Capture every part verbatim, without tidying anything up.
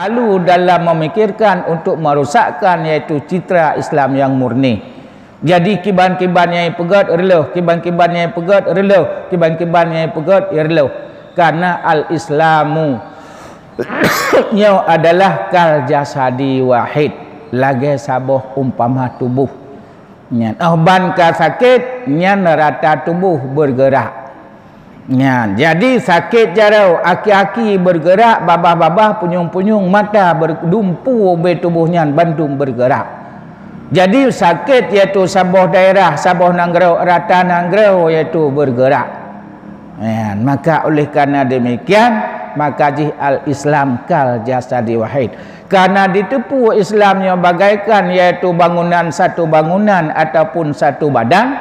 lalu dalam memikirkan untuk merusakkan, yaitu citra Islam yang murni. Jadi kiban-kiban nyang peugét reuloh, kiban-kiban nyang peugét reuloh, kiban-kiban nyang peugét reuloh. Karena al-Islamu nyoe adalah kal jasadi wahid, lagée saboh umpama tuboh. Nyan, óh ban ka sakét, nyan rata tuboh bergerak. Nyan, jadi sakét jaroe, aki-aki bergerak, babah-babah, punyueng-punyueng, mata, ber-, dumpu ubé tuboh nyan bandum bergerak. Jadi sakét yaitu saboh daerah, saboh nanggroe, rata nanggroe yaitu bergerak. Nyan, maka oleh karena demikian, maka jih al-Islam kal jasadi wahid. Karena diteupeue Islam nyoe bagaikan yaitu bangunan satu bangunan ataupun satu badan,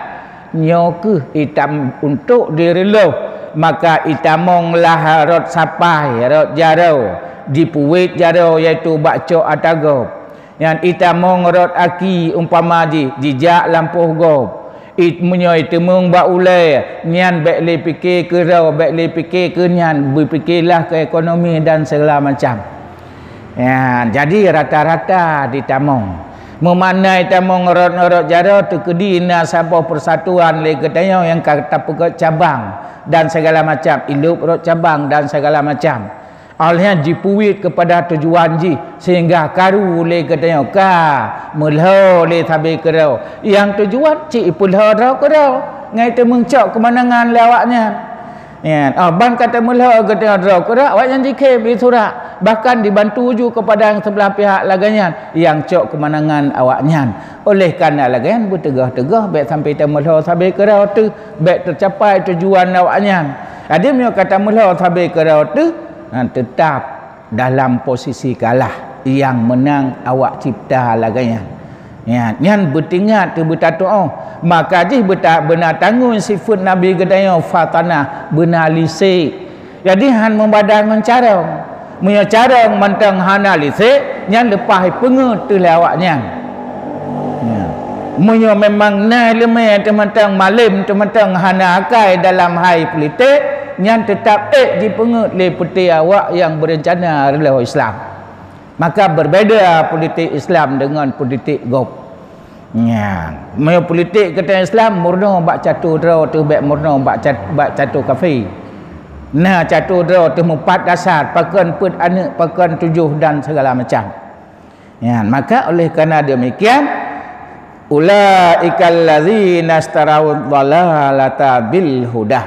nyoe kheueh itam untuk direuloh, maka itamong lah rot sapai, rot jaroe, jipuwet jaroe yaitu bak cok atagob. Nyan itamong rot aki umpama jih jijak lampôh gob. It-, meunyoe iteumeung bak ulée, nyan bék lé pike keu droe, bék lé pike keu nyan, beupikelah keu ekonomi dan segala macam. Ya, jadi rata-rata ditamong. Meumakna itamong rot-rot jaroe teukeudi na saboh persatuan lé geutanyoe nyang ka tapeugét cabang dan segala macam, ilop rot cabang dan segala macam. Awaknyan jipuwet keupada tujuan jih, sehingga karu lé geutanyoe ka meulhô lé sabe keudroe. Nyang tujuan cit ipeulhô droe keudroe, ngai teumeucok keumanangan lé awaknyan. Nyan, oh, ban ka teumeulhô geutanyoe droe keudroe, awaknyan jikhém di surak, bahkan dibantu ju keupada nyang seublah pihak lagée nyan, nyang cok keumanangan awaknyan. Oleh karena lagée nyan, beuteugoh-teugoh bék sampai teumeulhô sabe keudroe teuh, bék teucapai tujuan awaknyan. Jadi meunyoe ka teumeulhô sabe keudroe teuh, nyan teutap dalam posisi kalah, nyang meunang awak cipta lagée nyan. Nyan, nyan beutingat keu beutatuoh. Maka jih beuta-, beuna tanggong sifeuet Nabi geutanyoe fatanah, beuna lisek. Jadi han meubadan ngon carông. Meunyoe carông mantong hana lisek, nyan leupah ipeungeuet teuh lé awaknyan. Nyan. Meunyoe memang na iéleumé teuh mantong malém teuh mantong hana akai dalam hai politik, nyan teutap ék jipeungeuet lé peuté awak nyang beureuncana reuloh Islam. Maka berbeda politik Islam dengan politik gob. Nyan, meunyoe politik geutanyoe Islam meurunoe bak catur droe teuh bék meurunoe bak cat-, bak catur kafé. Na catur droe teuh meupat dasar, pakon peuet aneuëk, pakon tujoh dan segala macam. Nyan, maka oleh karena demikian, ulaikal ladzina isytarawud dhalalata bil huda.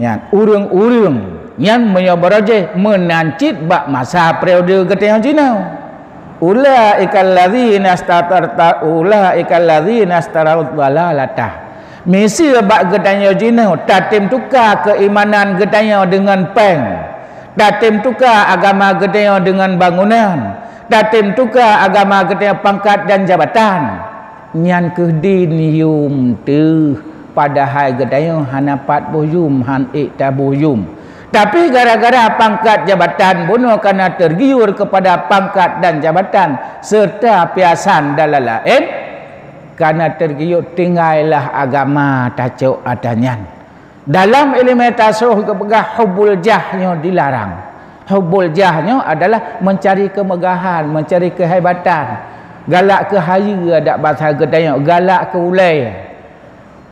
Nyan, ureuëng-ureuëng nyan meunyoe baroe jih meunan cit bak masa periode geutanyoe jinoe. Ulaikal ladzina istatarta-, ulaikal ladzina istarawud dhalalata. Miseue bak geutanyoe jinoe tatém tuka keuimanan geutanyoe deungon péng. Tatém tuka agama geutanyoe deungon bangunan. Tatém tuka agama geutanyoe pangkat dan jabatan. Nyan kheueh din yum teuh, padahai geutanyoe hana pat boh yum, han ék taboh yum. Tapi gara-gara pangkat jabatan bunoe kana tergiur kepada pangkat dan jabatan serta piasan dan laén-laén, kana tergiur tinggailah agama tacok atra nyan. Dalam iéleumé tasawuf geupeugah hubbul jah nyoe dilarang. Hubbul jah nyoe adalah mencari kemegahan, mencari kehebatan. Galak keu hayeue adak basa geutanyoe, galak keu ulée.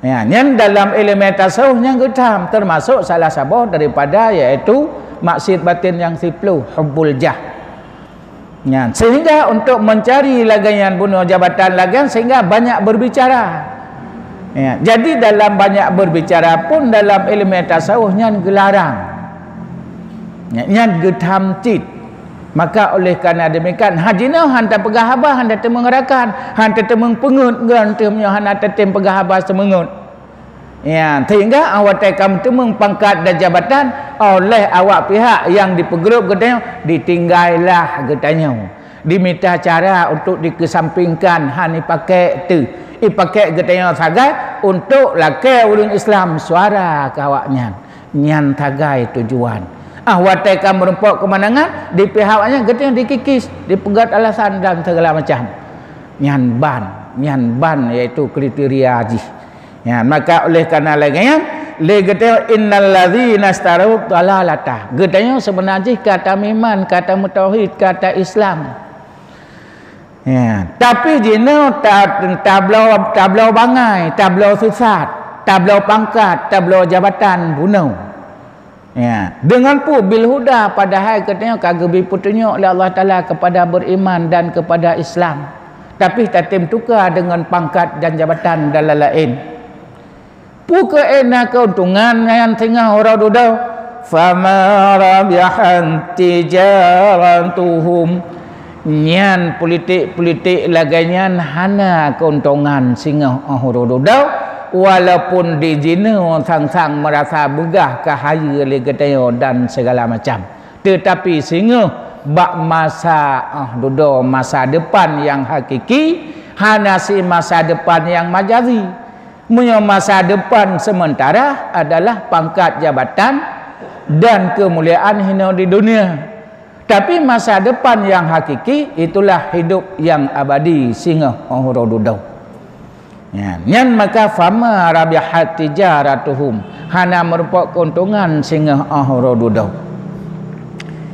Ya, nyan dalam iéleumé tasawuf nyang geutham, teumasok salah saboh daripada yaitu maksiet batin nyang siploh, hubbul jah. Nyan, sehingga untuk mencari lagée nyan bunoe jabatan lagée nyan, sehingga banyak berbicara. Ya, jadi dalam banyak berbicara pun dalam iéleumé tasawuf nyan geularang. Nyan, nyan geutham cit. Maka oleh karena demikian, hajinoe han tapeugah haba, han tateumeung rakan, han tateumeung peungeuet, ngon teuh meunyoe hana tatém peugah haba seumeungeut. Ya, sehingga awak watée ka meuteumeung pangkat dan jabatan oleh awak pihak nyang dipeugrôp geutanyoe, ditinggailah geutanyoe. Dimita cara untuk dikeusampingkan, han ipakék teuh. Ipakék geutanyoe sagai untuk lakée ureuëng Islam suara keu awaknyan. Nyan sagai tujuan. Ah, watée ka meurumpok keumanangan, di pihak awaknyan geutanyoe dikikis, dipeugét alasan dan segala macam. Nyan ban, nyan ban yaitu kriteria jih. Ya, maka oleh karena lagée nyan, Lé geutanyoe, "Innal ladzina istarau dhalalata." Geutanyoe seubeuna jih ka tameuiman, ka tameutauhid, ka ta-Islam. Ya, tapi jinoe ta-, tabloe, tabloe bangai, tabloe sisat, tabloe pangkat, tabloe jabatan bunoe. Ya, deungon peue? Bil huda, padahai geutanyoe ka geubri peutunyok lé Allah Taala keupada beriman dan keupada Islam. Tapi tatem tuka deungon pangkat dan jabatan dan laén-laén. Peue keuh na keuntungan nyan singoh uroe dudoe? "Fama rabihat tijaratuhum." Nyan politik-politik lagée nyan hana keuntungan singoh uroe dudoe, walaupun di jinoe sang-sang meurasa beugah ka hayeue lé geutanyoe dan sigala macam. Teutapi singoh bak masa uroe dudoe, masa depan nyang hakiki, hana si masa depan nyang majazi. Meunyoe masa depan sementara adalah pangkat jabatan dan keumuliaan hinoe di dunia, tapi masa depan nyang hakiki itulah hidup nyang abadi singoh uroe dudoe. Nyan, nyan maka, "Fama rabihat tijaratuhum," hana meurumpok keuntungan singoh uroe dudoe.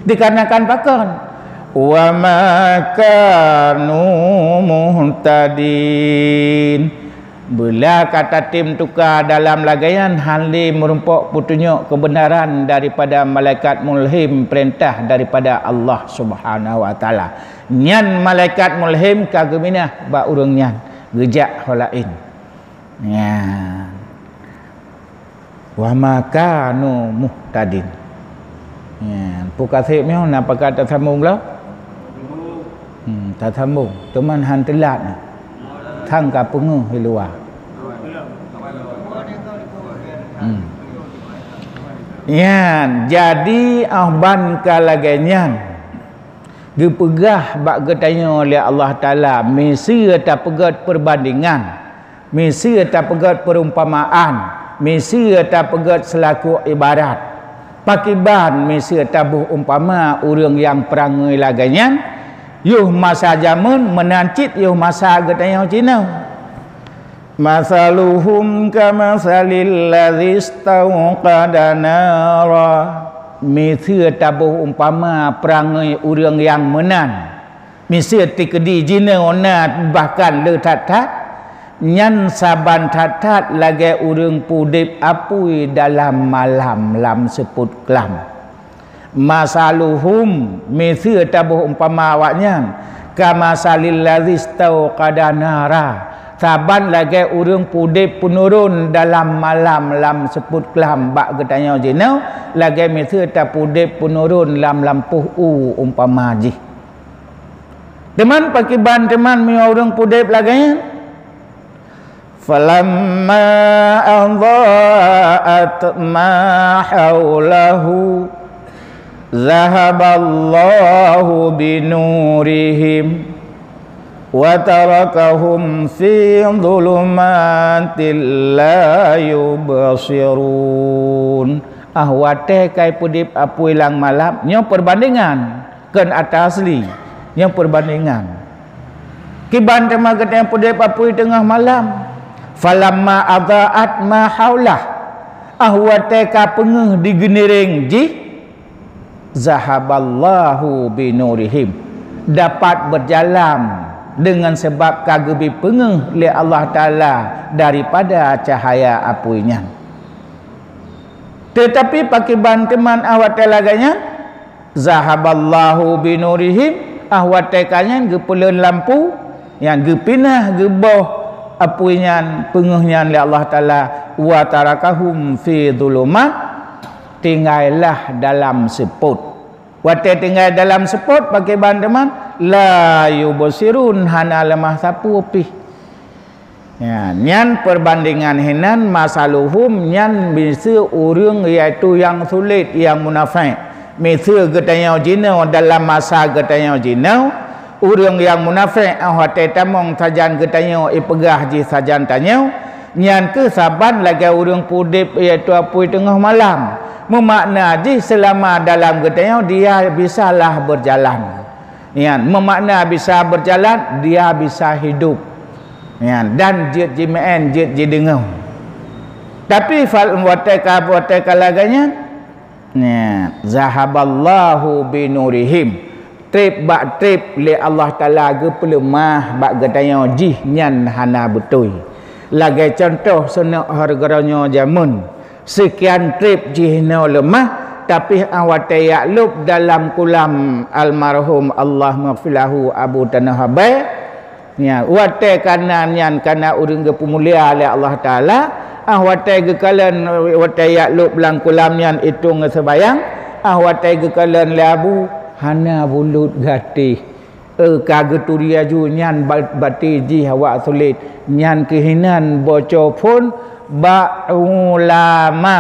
Dikarenakan pakon? "Wa ma kanu muhtadin." Beula ka tatem tuka dalam lagée nyan, hana lé meurumpok peutunyok keubeunaran daripada malaikat mulhim, peurintah daripada Allah Subhanahu wa Taala. Nyan malaikat mulhim ka geuminah bak ureuëng nyan, geujak ho laén. Nyan. "Wa ma kanu muhtadin." Nyan, peue ka seb nyoe, na pakat tasambong lom? Hmm, tasambong. Teuma han teulat na. Sang ka peungeuh di luwa. Hmm. Nyan, jadi, óh ban ka lagée nyan, geupeugah bak geutanyoe lé Allah Taala, miseue tapeugét peureubandingan. Miseue tapeugét peurumpamaan, miseue tapeugét seulaku ibarat. Pakriban miseue taboh umpama ureuëng nyang peurangui lagée nyan, yoh masa jameun meunan cit yoh masa geutanyoe jinoe. "Masaluhum kamasalil ladzi istauqada nara." Miseue taboh umpama peurangui ureuëng nyang meunan. Miseue teukeudi jinoe na bahkan le that-that, nyan saban that-that lagée ureuëng peudeb apui dalam malam lam seupôt klam. "Masaluhum," miseue taboh umpama awaknyan, "kamasalil ladzi istauqada nara," saban lagée ureuëng peudeb peunurun dalam malam lam seupôt klam bak geutanyoe jinoe, lagée miseue tapeudeb peunurun lam lampôh u umpama jih. Teuma pakriban teuma meunyoe ureuëng peudeb lagée nyan? "Falamma adha'at ma haulahu, zahaballahu binurihim, wa tarakahum fi dhulumatil la yubsirun." Ah, watée ka ipeudeb apui lam malam, nyoe peureubandingan. Kon ata asli, nyoe peureubandingan. Kiban teuma geutanyoe peudeb apui teungoh malam, "Falamma adha'at ma haulah," ah, watée ka peungeuh di geuniréng jih, "zahaballahu binurihim," dapat beujalan deungon sabab ka geubri peungeuh lé Allah Taala daripada cahya apui nyan. Teutapi pakriban teuma ah watée lagée nyan, "zahaballahu binurihim," ah, watée ka nyan geupeuleuén lampu, nyan geupinah geuboh apui nyan, peungeuh nyan lé Allah Taala, "wa tarakahum fi dhulumat," tinggailah dalam seupôt. Watée tinggai dalam seupôt, pakriban teuma, "la yubsirun," hana leumah sapeue pih. Ya, nyan peureubandingan hinan, masaluhum, nyan miseue ureuëng, yaitu nyang sulet, nyang munafék. Miseue geutanyoe jinoe dalam masa geutanyoe jinoe, ureuëng nyang munafék, óh watée tamong sajan geutanyoe ipeugah jih sajan tanyoe, nyan kheueh saban lagée ureuëng peudeb, yaitu apui teungoh malam. Meumakna jih seulama dalam geutanyoe dia bisalah beujalan. Nyan, meumakna bisa beujalan, dia bisa hidup. Nyan, dan jeuet jimeu'én, jeuet jideungoe. Tapi fal-, watée ka, watée ka lagée nyan, nyan, zahaballahu binurihim. Treb bak treb lé Allah Taala geupeuleumah bak geutanyoe jih nyan hana beutôi. Lagée cuntoh seuneuk hareuga nyoe jameun, seukian treb jih nyoe leumah, tapi 'oh watée jak lôb dalam kulam almarhum Allahummaghfir lahu Abu Tanoh Abai, Nyan, watée kana nyan kana ureuëng geupeumulia lé Allah Taala, ah watée geukalon, watée jak lôb lam kulam nyan itong seubayang, ah watée geukalon lé Abu, hana bulut gatéh. Eh, ka geuturi aju nyan ba-, baté jih awak sulet. Nyan keuh inan boco phon bak ulama.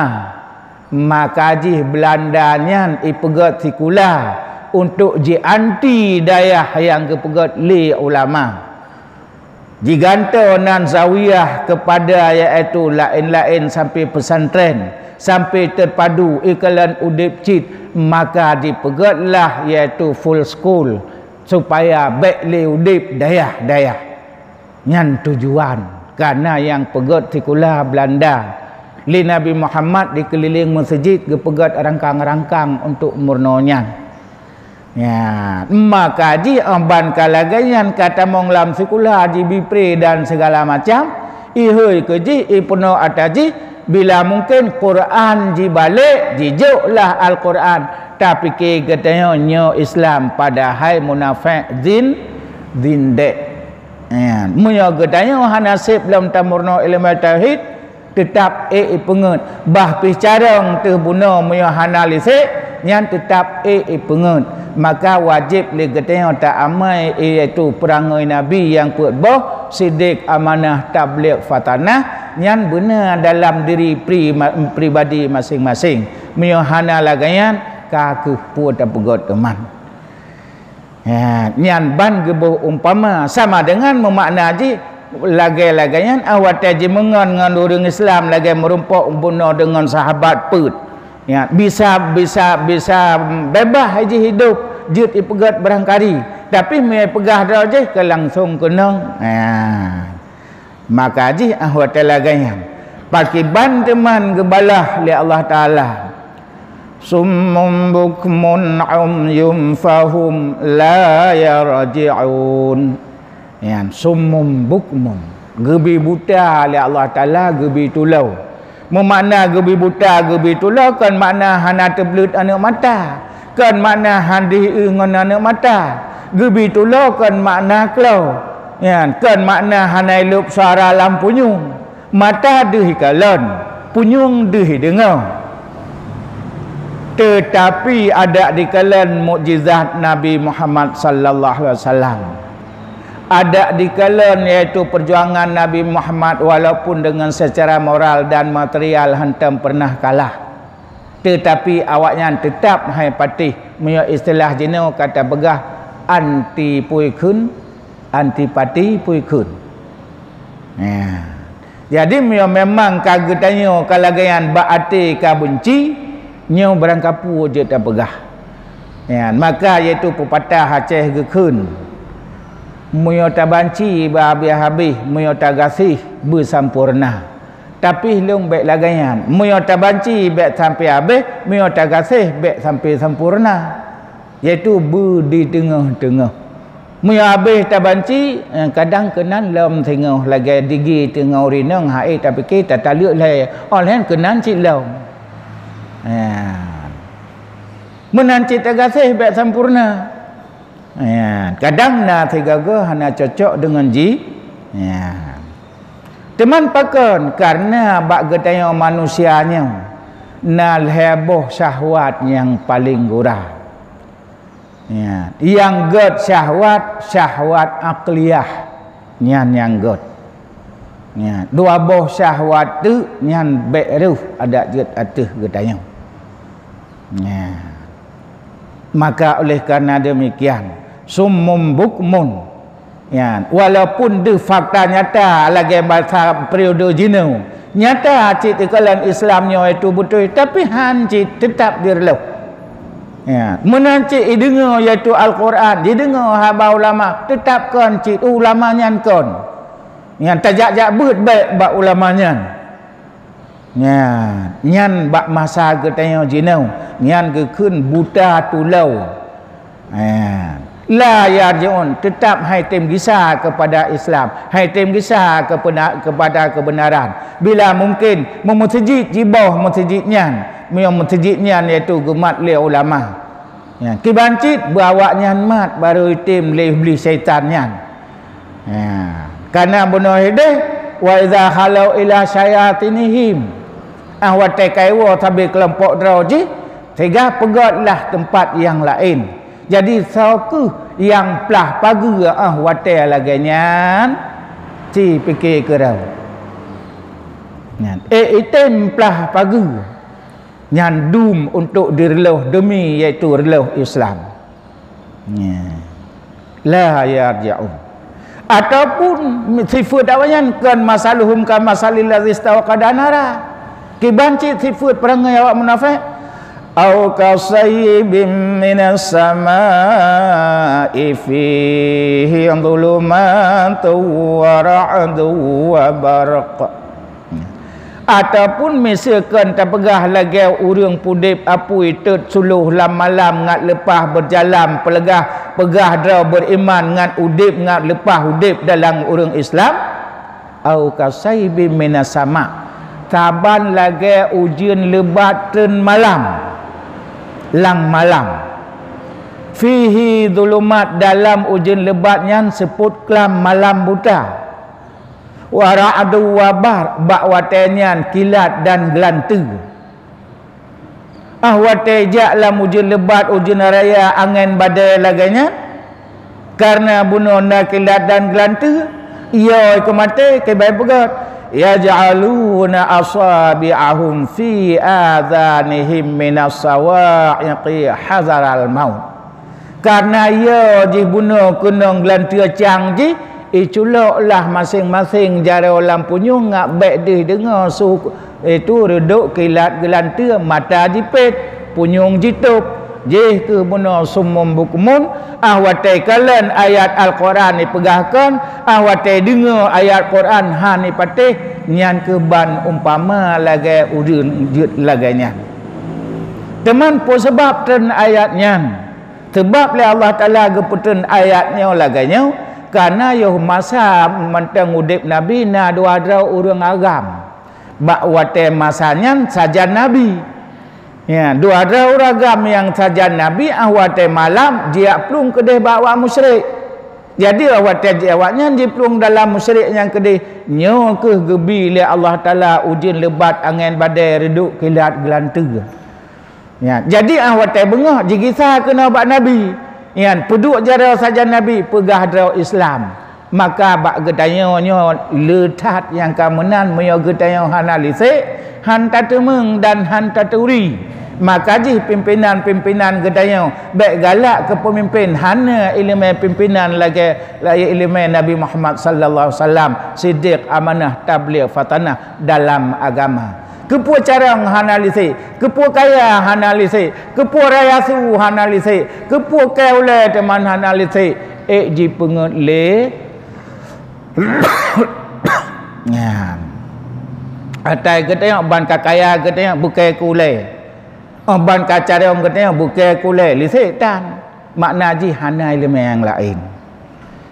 Maka jih Beulanda nyan ipeugét sikula untuk jianti dayah nyang geupeugét lé ulama. Jigantoe nan zawiyah keupada, yaitu laén-laén sampoe peusantren, sampoe teupadu ikalon udeb cit, maka jipeugétlah yaitu full school, supaya bék lé udeb dayah-dayah. Nyan tujuan, kana nyang peugét sikula Beulanda lé Nabi Muhammad dikeulileng meuseujid geupeugét rangkang-rangkang untuk meurunoe nyan. Ya, maka jih 'oh ban ka lagée nyan ka tamong lam sikula jibi pre dan sigala macam, ihôi keu jih, ipeunoh atra jih, bila mungken Quran jibalek, jijok lah Al-Quran, tapike geutanyoe nyoe Islam padahai munafék zin-, zindék. Nyan, meunyoe geutanyoe hana seb lom tameurunoe ileumé tauhid, teutab ék ipeungeut. Bah pih carông teuh bunoe meunyoe hana lisek, nyan teutab ék ipeungeut. Maka wajéb lé geutanyoe taamai, iaitu peurangoi Nabi nyang peuet boh, sidek, amanah, tabligh, fatanah, nyan beuna dalam diri pri-, pribadi maséng-maséng. Meunyoe hana lagée nyan, ka kheueh peue tapeugét teuma. Ha, nyan ban geuboh umpama, sama deungon meumakna jih lagée-lagée nyan, ah watée jimeungon ngon ureuëng Islam lagée meurumpok bunoe deungon sahabat peuet. Ya, bisa, bisa, bisa beubaih jih hidup, jeuet ipeugét barangkari. Tapi meunyoe ipeugah droe jih, ka langsong keunong. Ha. Maka jih 'oh watée lagée nyan, pakiban teuma geubalah lé Allah Taala, "Summum bukmun umyum fahum la yarji'un." Nyan, summum bukmun, geubi buta lé Allah Taala, geubi tulo. Meumakna geubi buta, geubi tulo kon makna hana teubleuet aneuëk mata, kon makna han deuh ié ngon aneuëk mata. Geubi tulo kon makna klo, nyan kon makna hana ilop suara lam punyueng. Mata deuh ikalon, punyueng deuh ideungoe. Teutapi adak dikalon mukjizat Nabi Muhammad sallallahu alaihi wasallam. Adak dikalon, yaitu peujuangan Nabi Muhammad, walaupun deungon seucara moral dan material hantom peureunah kalah, teutapi awaknyan teutab hai patéh, meunyoe istilah jinoe ka tapeugah, anti peue kheun, antipati peue kheun. Nah, jadi meunyoe memang ka geutanyoe ka lagée nyan bak até ka beunci, nyoe barangkapeue jeuet tapeugah. Nyan, maka yaitu peupatah Aceh geukheun, "Meunyoe tabanci beuhabéh-habéh, meunyoe tagaséh beusampoereuna." Tapi lôn bék lagée nyan, meunyoe tabanci bék sampoe habéh, meunyoe tagaséh bék sampoe sampoereuna, yaitu beu di teungoh-teungoh. Meunyoe habéh tabanci, eh, kadang keunan lom singoh lagée digi teungoh rinong hai tapike tataleuek lhée, óh lheueh keunan cit lom. Eh. Meunan cit tagaséh bék sampoereuna. Ya, kadang na sigoe-goe hana cocok deungon jih. Ya. Teuma pakon, kareuna bak geutanyoe manusia nyoe na lhée boh syahwat nyang paleng gura. Ya, nyang gét syahwat, syahwat akliyah. Nyan nyang gét. Nyan, dua boh syahwat teuk nyan bék reuh adak jeuet ateueh geutanyoe. Nyan. Maka oleh karena demikian, summum bukmun. Nyan, walaupun deuh fakta nyata lagée basa periode jinoe, nyata cit ikalon Islam nyoe itu beutôi, tapi han cit teutab direuloh. Ya, meunan cit ideungoe yaitu Al-Quran, dideungoe haba ulama, teutab kon cit ulama nyan kon. Nyan tajak-jak beuet bék bak ulama nyan. Nyan, nyan bak masa geutanyoe jinoe, nyan geukheun buta tulou. Ha. La yarji'un, teutap hai tem gisa keupada Islam, hai tem gisa keupena-, keupada keubeunaran. Bila mungken, meumeuseujid jiboh meuseujid nyan, meunyoe meuseujid nyan yaitu geumat lé ulama. Ya, kiban cit beu awaknyan mat barô item lé iblih syaitan nyan. Ya, kana bunoe ideh, "Wa idza khalau ila syayatinihim." Ah, watée ka iwoe sabe keulompok droe jih, teuga peugotlah teumpat nyang laén. Jadi, soe kheueh nyang plah pageue, ah, watée lagée nyan? Ci pike keudroe. Nyan, eh, item plah pageue. Nyan dum untuk direulôh deumi, yaitu reulôh Islam. Nya. La yarji'un. Ataupun sifeut awaknyan kon masaluhum ka masalil ladzi istauqada nara. Kiban cit sifeut peurangui awak munafék. Au kasayyibim minas sama'i fihi dhulumatun wa ra'dun wa barq. Ataupun miseukon tapeugah lagée ureuëng pudeb apui teuet suloh lam malam ngat leupah beujalan peuleugah peugah droe beuriman ngat udeb ngat leupah udeb dalam ureuëng Islam, au kasaibim minas sama, saban lagée ujeuen leubat treun malam, lam malam. Fihi dhulumat, dalam ujeuen leubat nyan seupôt klam malam buta. Wa ra'du wa bar, bak watée nyan kilat dan geulanteue. Ah, watée jak lam ujeuen leubat, ujeuen raya, angén badée lagée nyan, kareuna bunoe na kilat dan geulanteue, yo keu maté, keu bai beugét. Yaj'aluna asabi'ahum fi adhanihim minas sawa'iqi hazaral maut. Kareuna yo jih bunoe keunong geulanteue cang jih, iculok lah maséng-maséng jaroe lam punyueng ngat bék deuh deungoe su, itu reudok kilat geulanteue, mata jipét, punyueng jitôb, jih keuh bunoe sumum bukmun, ah watée kalon ayat Al-Quran ipeugah kon, ah watée deungoe ayat Quran hana ipatéh, nyan keuh ban umpama lagée ureuëng jeuet lagée nyan. Teuma peue sabab treun ayat nyan? Sabab lé Allah Taala geupeutreun ayat nyoe lagée nyoe, kareuna yoh masa mantong udeb Nabi na dua droe ureuëng agam. Bak watée masa nyan sajan Nabi. Ya, dua droe ureuëng agam nyang sajan Nabi, ah watée malam jijak plueng keudeh bak awak musyrik. Jadi, ah watée jih awaknyan jiplueng dalam musyrik nyang keudeh, nyoe keuh geubi lé Allah Taala ujeuen leubat, angén badée, reudok, kilat, geulanteue. Ya, jadi, ah watée beungoh jigisa keunoe bak Nabi. Nyan, peuduek jaroe sajan Nabi, peugah droe Islam. Maka bak geutanyoe nyoe le that nyang ka meunan, meunyoe geutanyoe hana lisek, han tateumeung dan han taturi. Maka jih pimpénan-pimpénan geutanyoe bék galak keu peumimpén hana iéleumé pimpénan lagée, lagée iéleumé Nabi Muhammad sallallahu alaihi wasallam, siddiq, amanah, tabligh, fatanah dalam agama. Keupeue carông hana lisek, keupeue kaya hana lisek, keupeue raya su hana lisek, keupeue kée ulée teuma hana lisek, ék jipeungét lé. Nyan. Atai geutanyoe ban ka kaya geutanyoe beukée keu ulée. Oh, ban ka carông geutanyoe beukée keu ulée, lisek tan. Makna jih hana iéleumé nyang laén.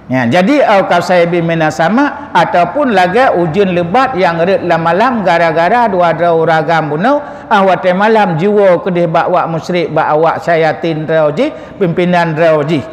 Ya, jadi, au kasaibin minas sama, ataupun lagée ujeuen leubat nyang rhot lam malam gara-gara dua droe ureuëng agam bunoe, ah watée malam jiwoe keudeh bak awak musyrik, bak awak syayatin droe jih, pimpénan droe jih.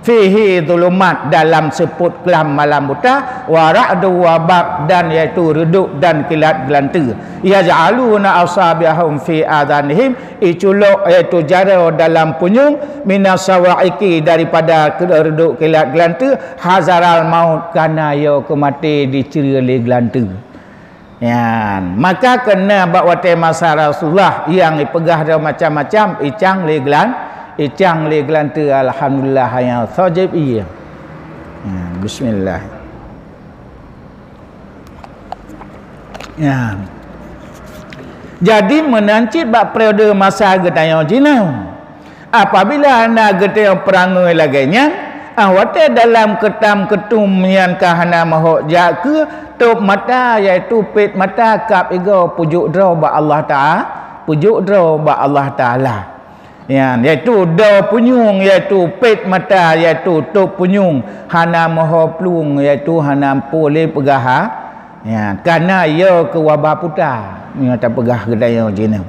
Fihi dhulumat, dalam seupôt klam malam buta, wa ra'du wa barq, dan yaitu reudok dan kilat geulanteue. Yaj'aluna asabi'ahum fi adhanihim, iculok yaitu jaroe dalam punyueng, minas sawa'iqi, daripada reudok kilat geulanteue, hazaral maut, kareuna yo keu maté dicre lé geulanteue. Nyan, maka keunan bak watée masa Rasulullah nyang ipeugah droe macam-macam, icang lé geulan-, icang lé geulanteue, alhamdulillah, nyang sojeb ié. Nyan, bismillah. Nyan. Jadi, meunan cit bak periode masa geutanyoe jinoe. Apabila na geutanyoe peurangui lagée nyan, Watée dalam keutam keutum nyan ka hana meuhok jak keue, tôb mata, yaitu pét mata kab igoe, peujok droe bak Allah Taala, peujok droe bak Allah Taala. Nyan, yaitu doe punyueng, yaitu pét mata, yaitu tôb punyueng, hana meuho plueng, yaitu hana amphon lé peugah ha. Nyan, kana yo keu waba puta, nyoe tapeugah geutanyoe jinoe.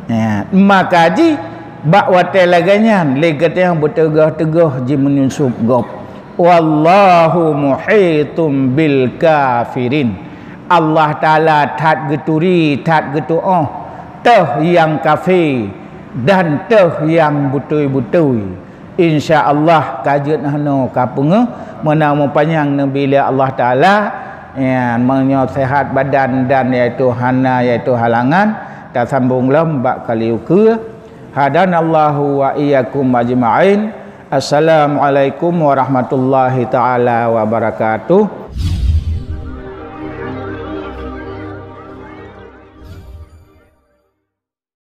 Nyan, maka jih bak watée lagée nyan lé geutanyoe beuteugoh-teugoh jimeunyusob gob. Wallahu muhitum bil kafirin. Allah Taala that geuturi, that geutuoh teuh nyang kafé dan teuh nyang beutôi-beutôi. Insya Allah ka jeuet hano ka peungeuh, meunan meupanyang neubi lé Allah Taala. Nyan, meunyoe sehat badan dan yaitu hana yaitu halangan, tasambong lom bak kali ukeue. Hadanallahu wa iyyakum ajma'in. Assalamualaikum warahmatullahi taala wabarakatuh.